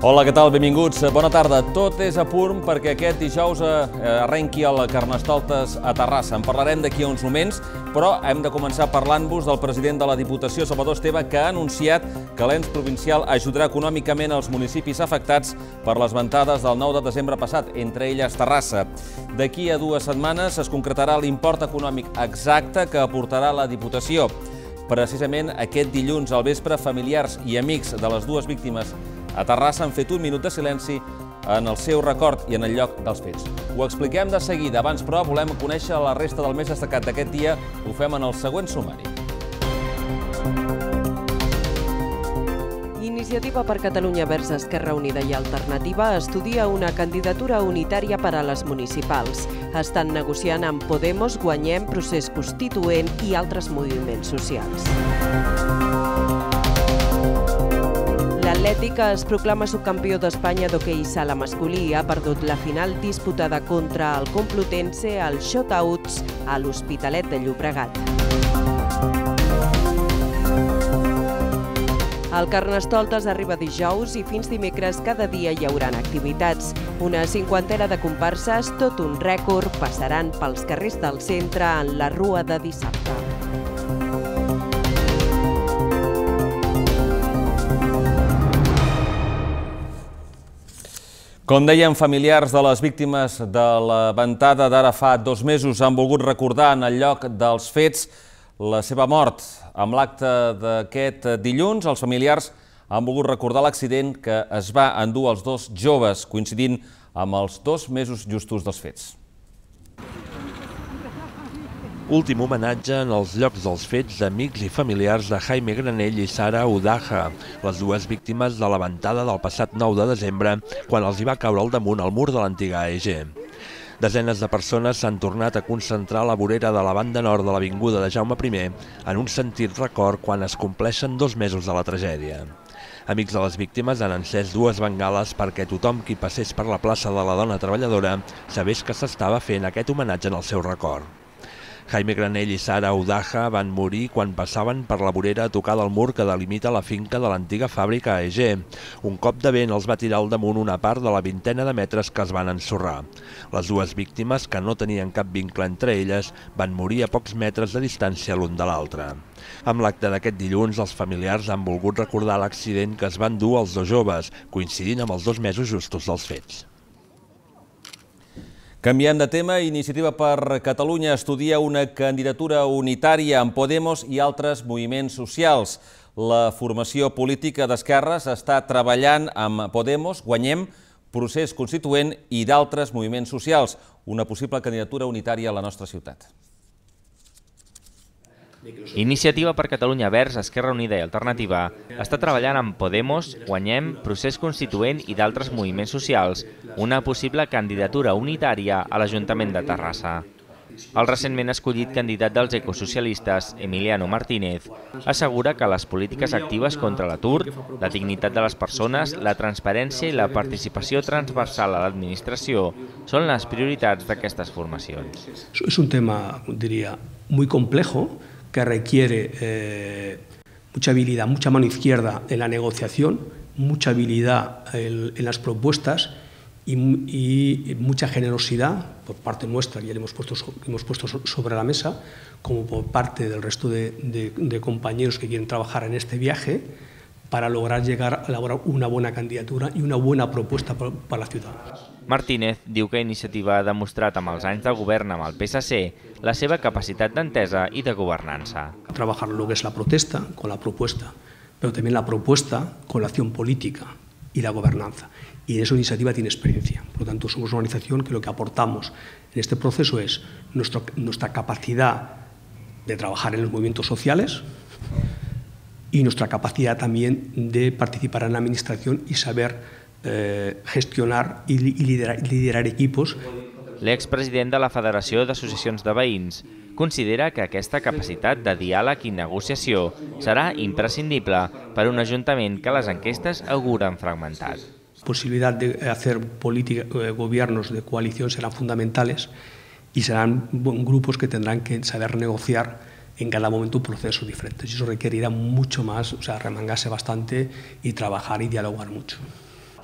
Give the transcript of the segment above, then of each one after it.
Hola, què tal? Benvinguts. Bona tarda. Tot és a punt perquè aquest dijous arrenqui el Carnestoltes a Terrassa. En parlarem d'aquí a uns moments, però hem de començar parlant-vos del president de la Diputació, Salvador Esteve, que ha anunciat que l'ens provincial ajudarà econòmicament els municipis afectats per les ventades del 9 de desembre passat, entre elles Terrassa. D'aquí a 2 setmanes es concretarà l'import econòmic exacte que aportarà la Diputació. Precisament aquest dilluns al vespre, familiars i amics de les dues víctimes a Terrassa han fet un minut de silenci en el seu record i en el lloc dels fets. Ho expliquem de seguida. Abans, però, volem conèixer la resta del més destacat d'aquest dia. Ho fem en el següent sumari. Iniciativa per Catalunya Verds Esquerra Unida i Alternativa estudia una candidatura unitària per a les municipals. Estan negociant amb Podemos, Guanyem, Procés Constituent i altres moviments socials. L'Atlètic es proclama subcampió d'Espanya d'hoquei sala masculí. Ha perdut la final disputada contra el Complutense als shotouts a l'Hospitalet de Llobregat. El Carnestoltes arriba dijous i fins dimecres cada dia hi haurà activitats. Una 50ena de comparses, tot un rècord, passaran pels carrers del centre en la rua de dissabte. Com dèiem, familiars de les víctimes de la ventada d'ara fa 2 mesos han volgut recordar en el lloc dels fets la seva mort. Amb l'acte d'aquest dilluns, els familiars han volgut recordar l'accident que es va endur els 2 joves, coincidint amb els 2 mesos justos dels fets. Últim homenatge en els llocs dels fets d'amics i familiars de Jaime Granell i Sara Udaja, les dues víctimes de la ventada del passat 9 de desembre, quan els hi va caure al damunt el mur de l'antiga AEG. Desenes de persones s'han tornat a concentrar a la vorera de la banda nord de l'avinguda de Jaume I en un sentit record quan es compleixen 2 mesos de la tragèdia. Amics de les víctimes han encès 2 bengales perquè tothom qui passés per la plaça de la Dona Treballadora sabés que s'estava fent aquest homenatge en el seu record. Jaime Granell i Sara Udaja van morir quan passaven per la vorera a tocar del mur que delimita la finca de l'antiga fàbrica AEG. Un cop de vent els va tirar al damunt una part de la 20ena de metres que es van ensorrar. Les dues víctimes, que no tenien cap vincle entre elles, van morir a pocs metres de distància l'un de l'altre. Amb l'acte d'aquest dilluns, els familiars han volgut recordar l'accident que es van dur els 2 joves, coincidint amb els 2 mesos justos dels fets. Canviem de tema. Iniciativa per Catalunya estudia una candidatura unitària amb Podemos i altres moviments socials. La formació política d'esquerres està treballant amb Podemos, Guanyem, Procés Constituent i d'altres moviments socials. Una possible candidatura unitària a la nostra ciutat. Iniciativa per Catalunya Verds Esquerra Unida i Alternativa està treballant amb Podemos, Guanyem, Procés Constituent i d'altres moviments socials una possible candidatura unitària a l'Ajuntament de Terrassa. El recentment escollit candidat dels ecosocialistes, Emiliano Martínez, assegura que les polítiques actives contra l'atur, la dignitat de les persones, la transparència i la participació transversal a l'administració són les prioritats d'aquestes formacions. És un tema, diria, muy complejo, que requiere mucha habilidad, mucha mano izquierda en la negociación, mucha habilidad en las propuestas y mucha generosidad por parte nuestra, que ya le hemos puesto sobre la mesa, como por parte del resto de compañeros que quieren trabajar en este viaje, para lograr llegar a elaborar una buena candidatura y una buena propuesta para la ciudad. Martínez diu que Iniciativa ha demostrat amb els anys de govern amb el PSC la seva capacitat d'entesa i de governança. Trabajar lo que es la protesta con la propuesta, pero también la propuesta con la acción política y la gobernanza. Y en eso Iniciativa tiene experiencia. Por lo tanto, somos una organización que lo que aportamos en este proceso es nuestra capacidad de trabajar en los movimientos sociales y nuestra capacidad también de participar en la administración y saber gestionar i liderar equipos. L'expresident de la Federació d'Associacions de Veïns considera que aquesta capacitat de diàleg i negociació serà imprescindible per a un ajuntament que les enquestes auguren fragmentat. La posibilidad de hacer gobiernos de coalición serán fundamentales y serán grupos que tendrán que saber negociar en cada momento procesos diferentes. Y eso requerirá mucho más, o sea, remangarse bastante y trabajar y dialogar mucho.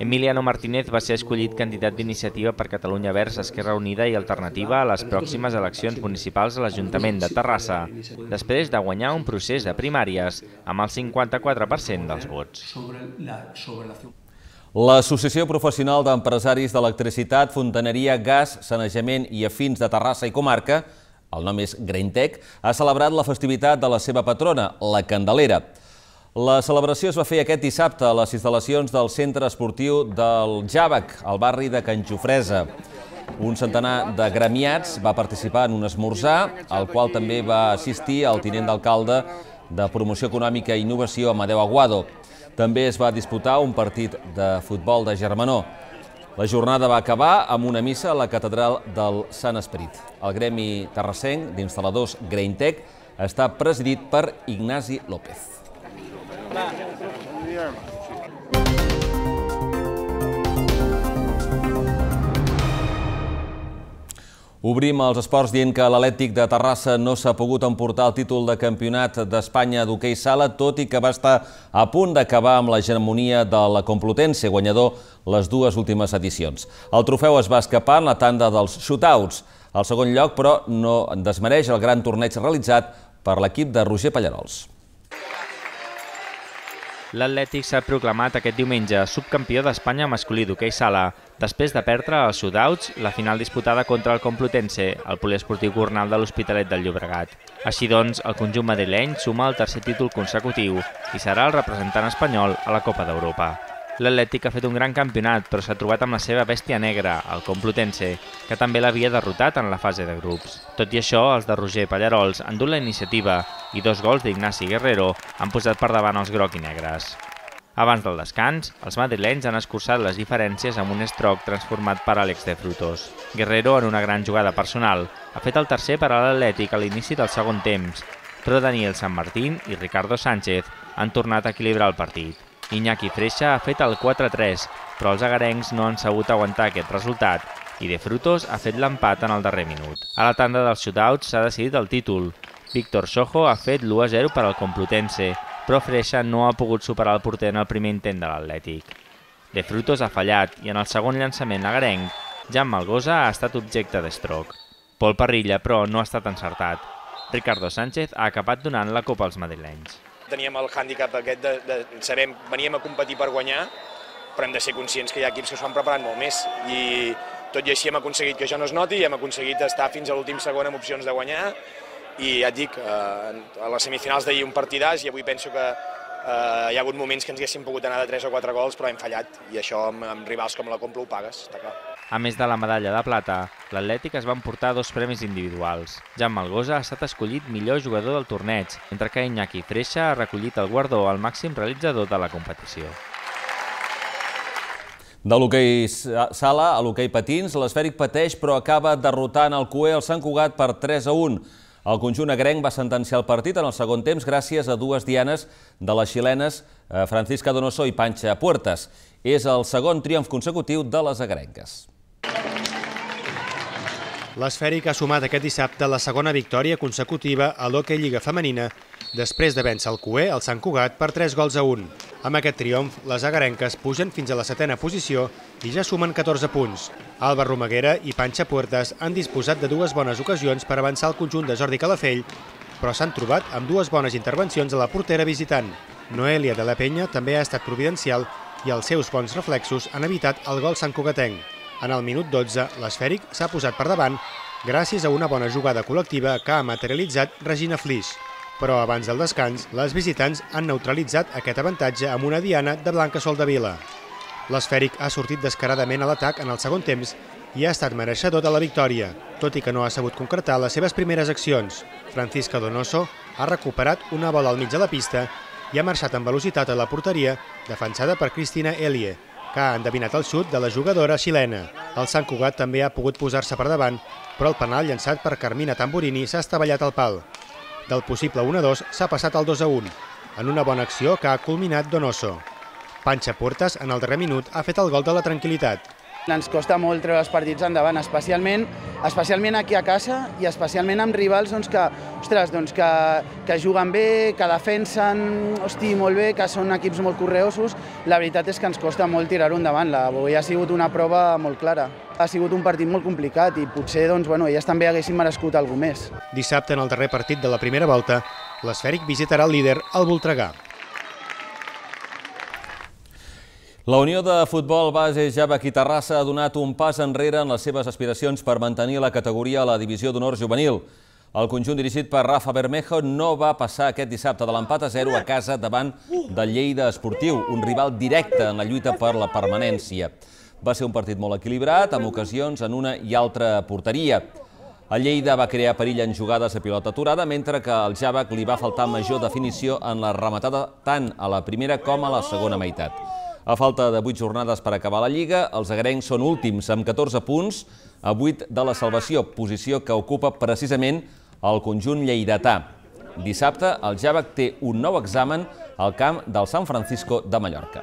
Emiliano Martínez va ser escollit candidat d'Iniciativa per Catalunya Verds, Esquerra Unida i Alternativa a les pròximes eleccions municipals a l'Ajuntament de Terrassa, després de guanyar un procés de primàries amb el 54% dels vots. L'Associació Professional d'Empresaris d'Electricitat, Fontaneria, Gas, Sanejament i Afins de Terrassa i Comarca, el nom és Greintec, ha celebrat la festivitat de la seva patrona, la Candelera. La celebració es va fer aquest dissabte a les instal·lacions del Centre Esportiu del Jàvec, al barri de Can Jofresa. Un centenar de gremiats va participar en un esmorzar, al qual també va assistir el tinent d'alcalde de Promoció Econòmica i Innovació, Amadeu Aguado. També es va disputar un partit de futbol de germanor. La jornada va acabar amb una missa a la catedral del Sant Esperit. El gremi terrassenc d'instal·ladors Greintec està presidit per Ignasi López. Obrim els esports dient que l'Atlètic de Terrassa no s'ha pogut emportar el títol de campionat d'Espanya d'hoquei sala, tot i que va estar a punt d'acabar amb l'hegemonia de la Complutense, guanyador les dues últimes edicions. El trofeu es va escapar en la tanda dels shootouts. El segon lloc, però, no desmereix el gran torneig realitzat per l'equip de Roger Pallarols. L'Atlètic s'ha proclamat aquest diumenge subcampió d'Espanya masculí d'hoquei sala, després de perdre als shootouts la final disputada contra el Complutense, el poliesportiu Gornal de l'Hospitalet del Llobregat. Així doncs, el conjunt madrileny suma el tercer títol consecutiu i serà el representant espanyol a la Copa d'Europa. L'Atlètic ha fet un gran campionat, però s'ha trobat amb la seva bèstia negra, el Complutense, que també l'havia derrotat en la fase de grups. Tot i això, els de Roger Pallarols han dut la iniciativa i 2 gols d'Ignasi Guerrero han posat per davant els groc i negres. Abans del descans, els madrilenys han escurçat les diferències amb un stroke transformat per Àlex de Frutos. Guerrero, en una gran jugada personal, ha fet el tercer per a l'Atlètic a l'inici del segon temps, però Daniel San Martín i Ricardo Sánchez han tornat a equilibrar el partit. Iñaki Freixa ha fet el 4-3, però els agarencs no han sabut aguantar aquest resultat i De Frutos ha fet l'empat en el darrer minut. A la tanda dels shootouts s'ha decidit el títol. Víctor Sojo ha fet l'1-0 per al Complutense, però Freixa no ha pogut superar el porter en el primer intent de l'Atlètic. De Frutos ha fallat i en el segon llançament agarenc, Jan Malgosa ha estat objecte d'estroc. Pol Parrilla, però, no ha estat encertat. Ricardo Sánchez ha acabat donant la copa als madrilenys. Teníem el hàndicap aquest de veníem a competir per guanyar, però hem de ser conscients que hi ha equips que s'ho han preparat molt més. I tot i així hem aconseguit que això no es noti i hem aconseguit estar fins a l'últim segon amb opcions de guanyar. I ja et dic, a les semifinals d'ahir un partidàs i avui penso que hi ha hagut moments que ens haguéssim pogut anar de 3 o 4 gols, però hem fallat. I això amb rivals com la Complu ho pagues, està clar. A més de la medalla de plata, l'Atlètic es va emportar 2 premis individuals. Jan Malgosa ha estat escollit millor jugador del torneig, mentre que Iñaki Freixa ha recollit el guardó al màxim realitzador de la competició. De l'hoquei sala a l'hoquei patins, l'Esfèric pateix però acaba derrotant el CUE al Sant Cugat per 3-1. El conjunt agrenc va sentenciar el partit en el segon temps gràcies a 2 dianes de les xilenes Francisca Donoso i Pancha Puertas. És el segon triomf consecutiu de les agrenques. L'Esfèric ha sumat aquest dissabte la segona victòria consecutiva a l'Hoquei Lliga Femenina després de vèncer el CUE al Sant Cugat per 3-1. Amb aquest triomf, les agarenques pugen fins a la 7a posició i ja sumen 14 punts. Alba Romaguera i Pancha Puertas han disposat de 2 bones ocasions per avançar el conjunt de Jordi Calafell, però s'han trobat amb 2 bones intervencions a la portera visitant. Noelia de la Penya també ha estat providencial i els seus bons reflexos han evitat el gol santcugatenc. En el minut 12, l'Esfèric s'ha posat per davant gràcies a una bona jugada col·lectiva que ha materialitzat Regina Flix. Però abans del descans, les visitants han neutralitzat aquest avantatge amb una diana de Blanca Soldevila. L'Esfèric ha sortit descaradament a l'atac en el segon temps i ha estat mereixedor de la victòria, tot i que no ha sabut concretar les seves primeres accions. Francisca Donoso ha recuperat una bola al mig de la pista i ha marxat amb velocitat a la porteria, defensada per Cristina Elie, que ha endevinat el xut de la jugadora xilena. El Sant Cugat també ha pogut posar-se per davant, però el penal llançat per Carmina Tamburini s'ha estavellat al pal. Del possible 1-2 s'ha passat al 2-1, en una bona acció que ha culminat Donoso. Pancha Puertas, en el darrer minut, ha fet el gol de la tranquil·litat. Ens costa molt treure els partits endavant, especialment aquí a casa i especialment amb rivals que juguen bé, que defensen molt bé, que són equips molt correosos. La veritat és que ens costa molt tirar-ho endavant. Avui ha sigut una prova molt clara. Ha sigut un partit molt complicat i potser elles també haguessin merescut alguna més. Dissabte, en el darrer partit de la primera volta, l'Esfèric visitarà el líder, el Voltregà. La Unió de Futbol Base Javac i Terrassa ha donat un pas enrere en les seves aspiracions per mantenir la categoria a la divisió d'honor juvenil. El conjunt dirigit per Rafa Bermejo no va passar aquest dissabte de l'empat a 0 a casa davant del Lleida Esportiu, un rival directe en la lluita per la permanència. Va ser un partit molt equilibrat, amb ocasions en una i altra porteria. El Lleida va crear perill en jugades a pilota aturada, mentre que al Javac li va faltar major definició en la rematada tant a la primera com a la segona meitat. A falta de 8 jornades per acabar la Lliga, els agarencs són últims amb 14 punts a 8 de la salvació, posició que ocupa precisament el conjunt lleidatà. Dissabte, el Javac té un nou examen al camp del San Francisco de Mallorca.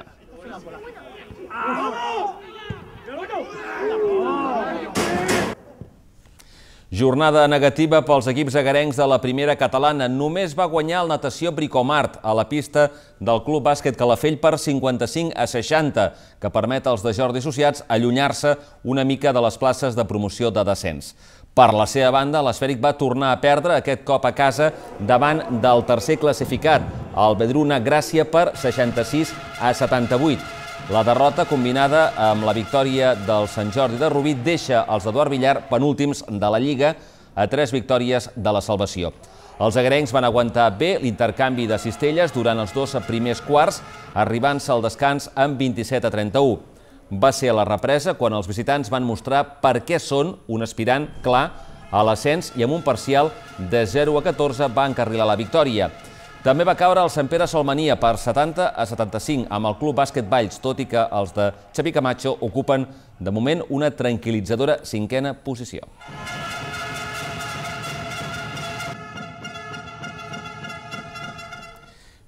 Jornada negativa pels equips agarencs de la primera catalana. Només va guanyar el Natació Bricomart a la pista del Club Bàsquet Calafell per 55-60, que permet als de Jordi Associats allunyar-se una mica de les places de promoció de descens. Per la seva banda, l'Esfèric va tornar a perdre aquest cop a casa davant del tercer classificat, el Vedruna Gràcia, per 66-78. La derrota, combinada amb la victòria del Sant Jordi de Rubí, deixa els d'Eduard Villar penúltims de la Lliga a 3 victòries de la salvació. Els agarencs van aguantar bé l'intercanvi de cistelles durant els 2 primers quarts, arribant-se al descans amb 27-31. Va ser a la represa quan els visitants van mostrar per què són un aspirant clar a l'ascens i amb un parcial de 0-14 va encarrilar la victòria. També va caure el Sant Pere Salmania per 70-75 amb el Club Bàsquet Valls, tot i que els de Xavi Camacho ocupen de moment una tranquil·litzadora 5a posició.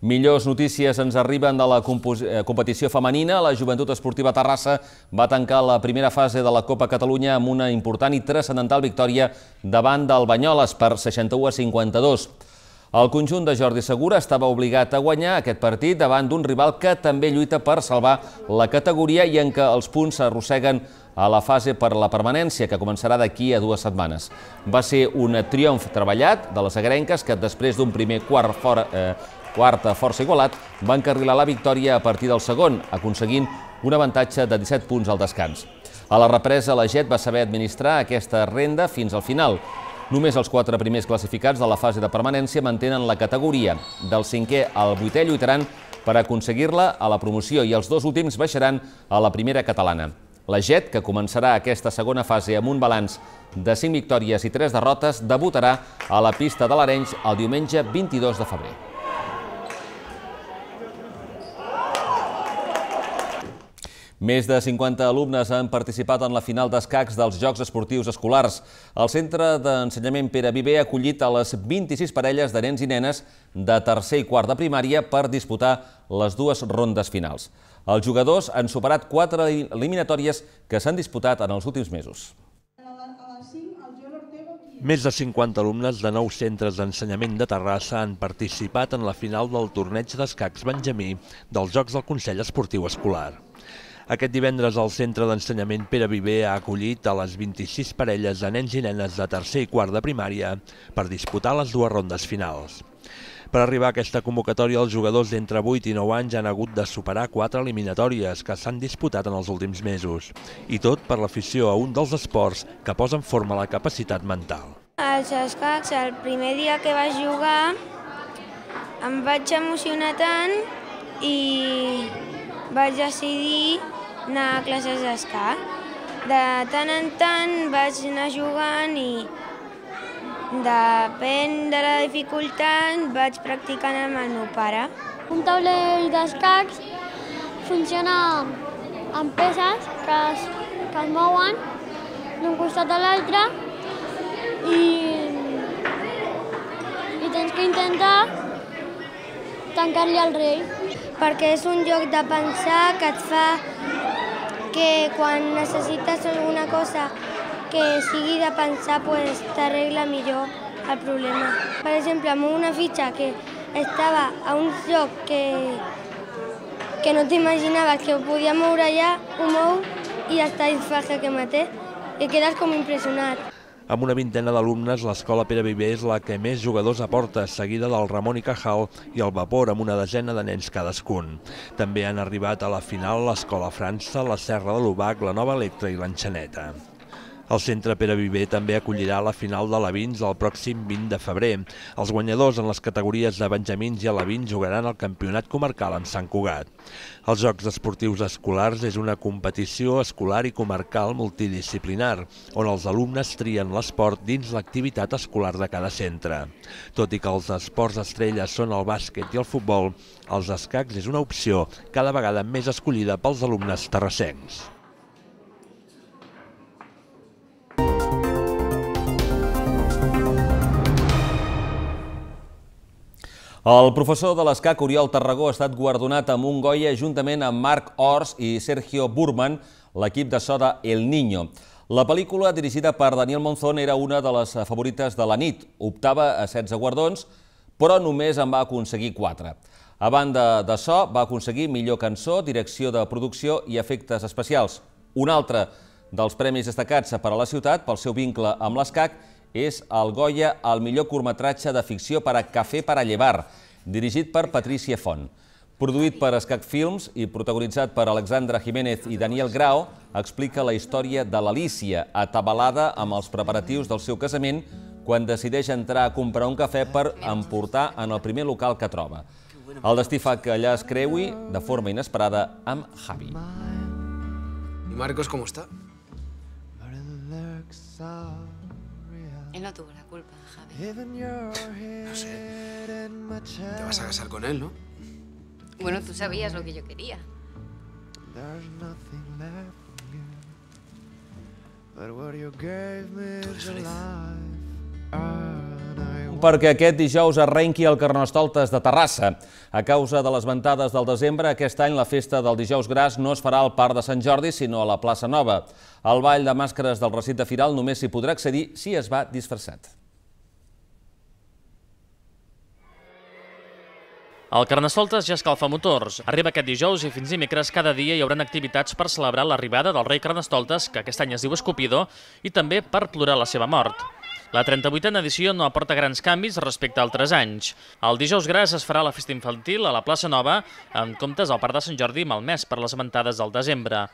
Millors notícies ens arriben de la competició femenina. La Joventut Esportiva Terrassa va tancar la primera fase de la Copa Catalunya amb una important i transcendental victòria davant del Banyoles per 61-52. El conjunt de Jordi Segura estava obligat a guanyar aquest partit davant d'un rival que també lluita per salvar la categoria i en què els punts s'arrosseguen a la fase per la permanència, que començarà d'aquí a 2 setmanes. Va ser un triomf treballat de les agrenques que després d'un primer quart força igualat va encarrilar la victòria a partir del segon, aconseguint un avantatge de 17 punts al descans. A la represa, la Jet va saber administrar aquesta renda fins al final. Només els 4 primers classificats de la fase de permanència mantenen la categoria. Del 5è al 8è lluitaran per aconseguir-la a la promoció i els 2 últims baixaran a la primera catalana. La Jet, que començarà aquesta segona fase amb un balanç de 5 victòries i 3 derrotes, debutarà a la pista de l'Arenys el diumenge 22 de febrer. Més de 50 alumnes han participat en la final d'escacs dels Jocs Esportius Escolars. El Centre d'Ensenyament Pere Viver ha acollit a les 26 parelles de nens i nenes de tercer i quart de primària per disputar les 2 rondes finals. Els jugadors han superat 4 eliminatòries que s'han disputat en els últims mesos. Més de 50 alumnes de 9 centres d'ensenyament de Terrassa han participat en la final del torneig d'escacs Benjamí dels Jocs del Consell Esportiu Escolar. Aquest divendres el Centre d'Ensenyament Pere Viver ha acollit a les 26 parelles de nens i nenes de tercer i quart de primària per disputar les 2 rondes finals. Per arribar a aquesta convocatòria, els jugadors d'entre 8 i 9 anys han hagut de superar 4 eliminatòries que s'han disputat en els últims mesos. I tot per l'afició a un dels esports que posa en forma la capacitat mental. Els escacs, el primer dia que vaig jugar, em vaig emocionar tant i vaig decidir anar a classes d'escac. De tant en tant vaig anar jugant i depèn de la dificultat vaig practicant amb el meu pare. Un taulell d'escacs funciona amb peces que es mouen d'un costat a l'altre i tens que intentar tancar-li el rei. Perquè és un joc de pensar que et fa que quan necessites alguna cosa que sigui de pensar, t'arregla millor el problema. Per exemple, amb una fitxa que estava a un lloc que no t'imaginaves que ho podia moure allà, ho mou i ja està, i fa jaque mate, i quedes com impressionat. Amb una vintena d'alumnes, l'escola Pere Viver és la que més jugadors aporta, seguida del Ramon i Cajal i el Vapor, amb una desena de nens cadascun. També han arribat a la final l'escola França, la Serra de l'Ubac, la Nova Electra i l'Enxaneta. El centre Pere Viver també acollirà la final de alevins el pròxim 20 de febrer. Els guanyadors en les categories de benjamins i alevins jugaran al campionat comarcal amb Sant Cugat. Els Jocs Esportius Escolars és una competició escolar i comarcal multidisciplinar, on els alumnes trien l'esport dins l'activitat escolar de cada centre. Tot i que els esports estrelles són el bàsquet i el futbol, els escacs és una opció cada vegada més escollida pels alumnes terrassencs. El professor de l'escac Oriol Tarragó ha estat guardonat amb un Goya juntament amb Marc Ors i Sergio Burman, l'equip de so de El Niño. La pel·lícula, dirigida per Daniel Monzón, era una de les favorites de la nit. Optava a 16 guardons, però només en va aconseguir 4. A banda de so, va aconseguir millor cançó, direcció de producció i efectes especials. Un altre dels premis destacats per a la ciutat, pel seu vincle amb l'escac, és el Goya al millor curtmetratge de ficció per a Café para llevar, dirigit per Patricia Font. Produït per Escac Films i protagonitzat per Alexandra Jiménez i Daniel Grau, explica la història de l'Alícia, atabalada amb els preparatius del seu casament, quan decideix entrar a comprar un cafè per emportar en el primer local que troba. El destí fa que allà es creui, de forma inesperada, amb Javi. ¿Y Marcos cómo está? Él no tuvo la culpa, Javi. No sé. Te vas a casar con él, ¿no? Bueno, tú sabías lo que yo quería. Tú eres feliz. Perquè aquest dijous arrenqui el Carnestoltes de Terrassa. A causa de les ventades del desembre, aquest any la festa del Dijous Gras no es farà al Parc de Sant Jordi, sinó a la plaça Nova. Al ball de màscares del recinte firal només s'hi podrà accedir si es va disfressat. El Carnestoltes ja escalfa motors. Arriba aquest dijous i fins dimecres cada dia hi haurà activitats per celebrar l'arribada del rei Carnestoltes, que aquest any es diu Escopidor, i també per plorar la seva mort. La 38a edició no aporta grans canvis respecte a altres anys. El dijous gras es farà la festa infantil a la plaça Nova, en comptes al Parc de Sant Jordi malmès per les ventades del desembre.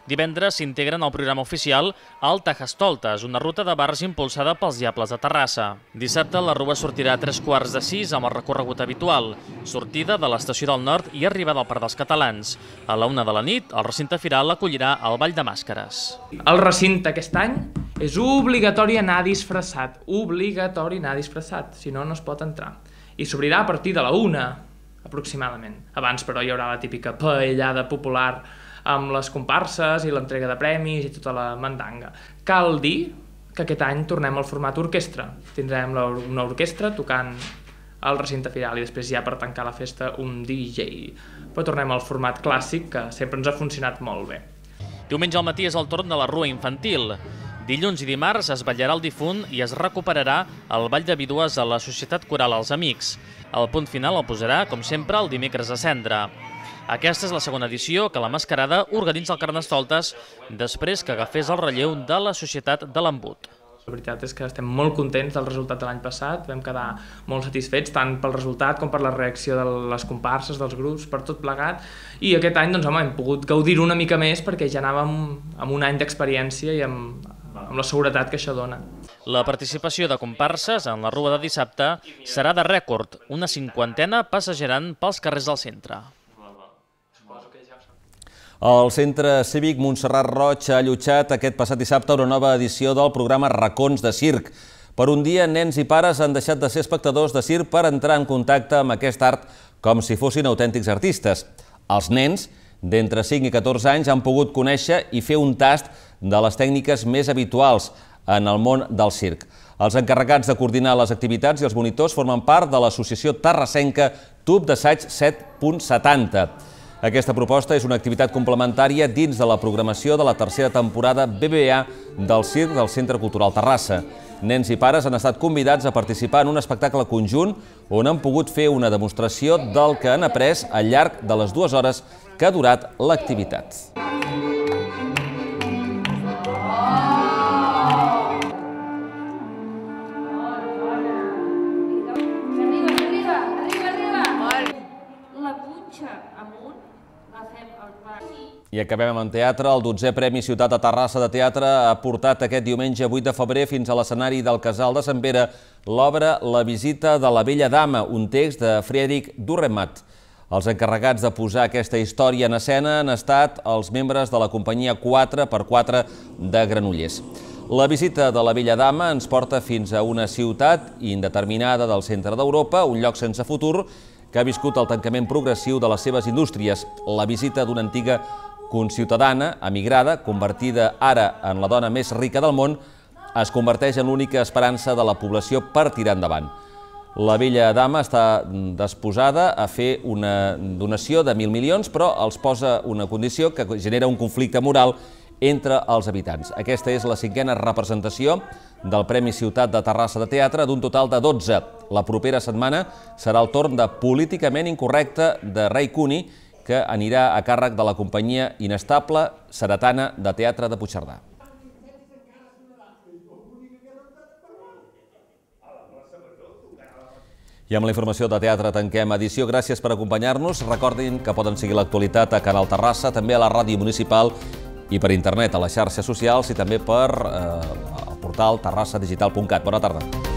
Divendres s'integren al programa oficial el Tajastoltes, una ruta de bars impulsada pels Diables de Terrassa. Dissabte la rua sortirà a 5:45 amb el recorregut habitual, sortida de l'estació del Nord i arribada al Parc dels Catalans. A la 1 de la nit, el recinte firal acollirà el Ball de Màscares. El recinte aquest any és obligatori anar disfressat, si no, no es pot entrar. I s'obrirà a partir de la 1, aproximadament. Abans, però, hi haurà la típica paellada popular amb les comparses i l'entrega de premis i tota la mandanga. Cal dir que aquest any tornem al format orquestra. Tindrem una orquestra tocant al recinte firal i després ja per tancar la festa un DJ. Però tornem al format clàssic que sempre ens ha funcionat molt bé. Diumenge al matí és el torn de la rua infantil. Dilluns i dimarts es ballarà el difunt i es recuperarà el ball de vídues a la Societat Coral Els Amics. El punt final el posarà, com sempre, el dimecres a Cendra. Aquesta és la segona edició que la Mascarada organitza el Carnestoltes després que agafés el relleu de la Societat de l'Embut. La veritat és que estem molt contents del resultat de l'any passat, vam quedar molt satisfets tant pel resultat com per la reacció de les comparses, dels grups, per tot plegat. I aquest any hem pogut gaudir-ho una mica més perquè ja anàvem amb un any d'experiència i amb la seguretat que això dona. La participació de comparses en la rua de dissabte serà de rècord, una 50ena passejaran pels carrers del centre. El Centre Cívic Montserrat Roig ha allotjat aquest passat dissabte una nova edició del programa Racons de Circ. Per un dia, nens i pares han deixat de ser espectadors de circ per entrar en contacte amb aquest art com si fossin autèntics artistes. Els nens, d'entre 5 i 14 anys, han pogut conèixer i fer un tast de les tècniques més habituals en el món del circ. Els encarregats de coordinar les activitats i els monitors formen part de l'associació terrassenca Tub d'Assaig 7.70. Aquesta proposta és una activitat complementària dins de la programació de la tercera temporada BBVA del Circ del Centre Cultural Terrassa. Nens i pares han estat convidats a participar en un espectacle conjunt on han pogut fer una demostració del que han après al llarg de les 2 hores que ha durat l'activitat. I acabem amb teatre. El 12è Premi Ciutat de Terrassa de Teatre ha portat aquest diumenge 8 de febrer fins a l'escenari del Casal de Sant Pere l'obra La visita de la Bella Dama, un text de Friedrich Dürrenmatt. Els encarregats de posar aquesta història en escena han estat els membres de la companyia 4x4 de Granollers. La visita de la Bella Dama ens porta fins a una ciutat indeterminada del centre d'Europa, un lloc sense futur, que ha viscut el tancament progressiu de les seves indústries. La visita d'una antiga conciutadana, emigrada, convertida ara en la dona més rica del món, es converteix en l'única esperança de la població per tirar endavant. La Bella Dama està disposada a fer una donació de 1.000 milions, però els posa una condició que genera un conflicte moral entre els habitants. Aquesta és la 5a representació del Premi Ciutat de Terrassa de Teatre, d'un total de 12. La propera setmana serà el torn de Políticament Incorrecte de Ray Cooney, que anirà a càrrec de la companyia inestable Ceretana de Teatre de Puigcerdà. I amb la informació de teatre tanquem edició. Gràcies per acompanyar-nos. Recordin que poden seguir l'actualitat a Canal Terrassa, també a la ràdio municipal i per internet, a les xarxes socials i també per el portal terrassadigital.cat. Bona tarda.